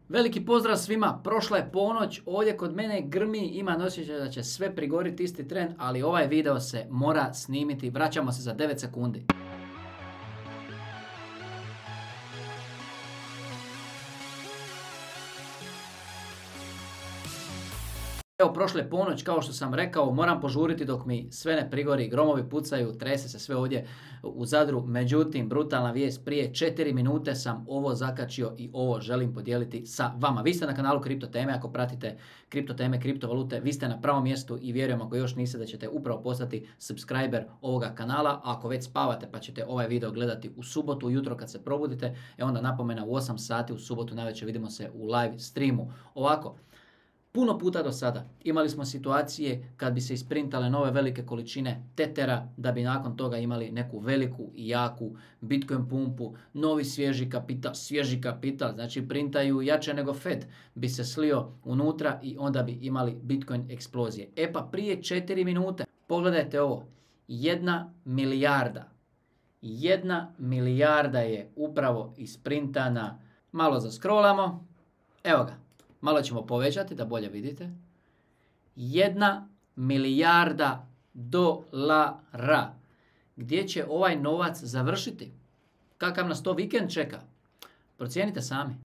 Veliki pozdrav svima, prošla je ponoć, ovdje kod mene grmi, ima osjećaj da će sve prigoriti isti tren, ali ovaj video se mora snimiti, vraćamo se za 9 sekundi. Evo, prošle je ponoć, kao što sam rekao, moram požuriti dok mi sve ne prigori, gromovi pucaju, trese se sve ovdje u Zadru. Međutim, brutalna vijest, prije 4 minute sam ovo zakačio i ovo želim podijeliti sa vama. Vi ste na kanalu Kripto Teme, ako pratite kripto teme, kriptovalute, vi ste na pravom mjestu i vjerujem ako još niste da ćete upravo postati subscriber ovoga kanala. A ako već spavate pa ćete ovaj video gledati u subotu ujutro kad se probudite, onda napomena u 8 sati u subotu navečer vidimo se u live streamu. Ovako, puno puta do sada imali smo situacije kad bi se isprintale nove velike količine tetera da bi nakon toga imali neku veliku i jaku Bitcoin pumpu, novi svježi kapital, znači printaju jače nego Fed, bi se slio unutra i onda bi imali Bitcoin eksplozije. E pa prije 4 minute, pogledajte ovo, 1 milijarda. 1 milijarda je upravo isprintana, malo zaskrolamo, evo ga. Malo ćemo povećati da bolje vidite. 1 milijarda dolara. Gdje će ovaj novac završiti? Kakav nas to vikend čeka? Procijenite sami.